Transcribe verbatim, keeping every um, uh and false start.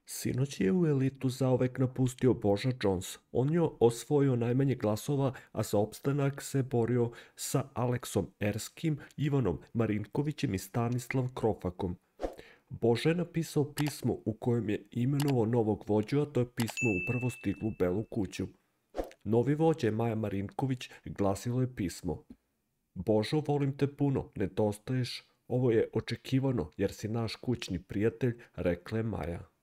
Sinoć je u elitu zauvek napustio Boža Jones. On je osvojio najmanje glasova, a za opstanak se borio sa Aleksom Erskim, Ivanom Marinkovićem i Stanislav Krofakom. Boža je napisao pismo u kojem je imenovao novog vođu, a to je pismo upravo stiglo u Belu kuću. Novi vođa je Maja Marinković, glasilo je pismo. Božo, volim te puno, nedostaješ, ovo je očekivano jer si naš kućni prijatelj, rekla je Maja.